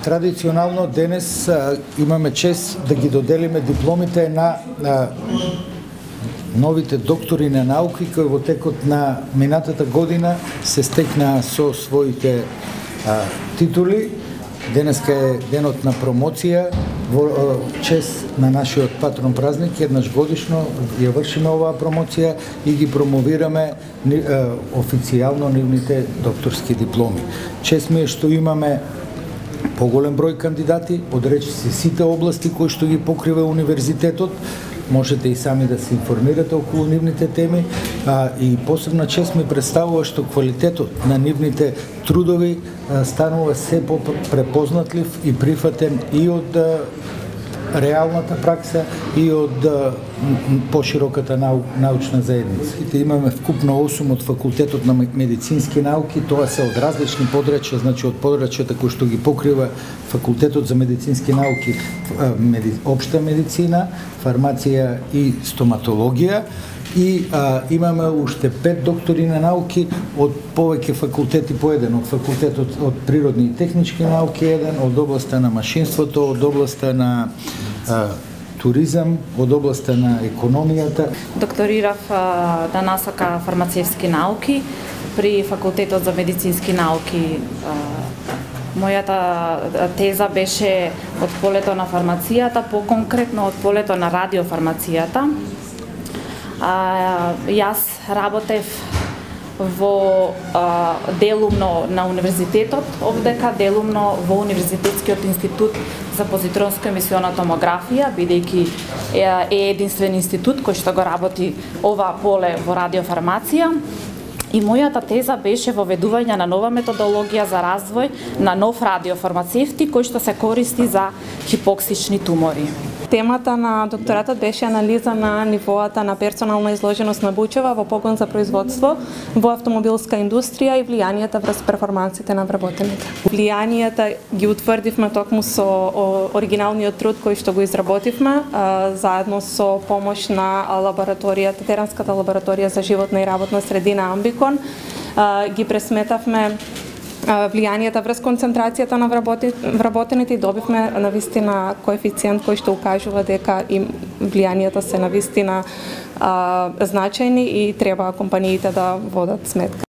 Традиционално денес имаме чест да ги доделиме дипломите на новите доктори на науки кои во текот на минатата година се стекнаа со своите титули. Денеска е денот на промоција во чест на нашиот патрон празник. Еднаш годишно ја вршиме оваа промоција и ги промовираме официјално нивните докторски дипломи. Чест ми е што имаме поголем број кандидати од речиси сите области кои што ги покрива универзитетот. Можете и сами да се информирате околу нивните теми, и посебна чест ми представува што квалитетот на нивните трудови станува се по-препознатлив и прифатен и од реалната пракса и од пошироката научна заедница. Имаме вкупно 8 од факултетот на медицински науки, тоа се од различни подрачја, значи од подрачјата кои што ги покрива факултетот за медицински науки, општа медицина, фармација и стоматологија. И имаме уште 5 доктори на науки од повеќе факултети по еден, од факултетот од природни и технички науки еден, од областа на машинството, од областа на туризам, од областа на економијата. Докторирав на насока фармацевски науки при факултетот за медицински науки. Мојата теза беше од полето на фармацијата, по-конкретно од полето на радиофармацијата. Јас работев во делумно на универзитетот овдека, делумно во Универзитетскиот институт за позитронска емисиона томографија, бидејќи е единствен институт кој што го работи ова поле во радиофармација. И мојата теза беше воведување на нова методологија за развој на нов радиофармацевти кој што се користи за хипоксични тумори. Темата на докторатот беше анализа на нивоата на персонална изложеност на бучева во погон за производство во автомобилска индустрија и влијанието врз перформансите на вработените. Влијанието ги утврдивме токму со оригиналниот труд кој што го изработивме, заедно со помош на лабораторијата, Теренската лабораторија за животна и работна средина Амбикон. Ги пресметавме влијанието врз концентрацијата на вработените и добивме навистина коефициент кој што укажува дека им влијанието се навистина значајни и треба компаниите да водат сметка.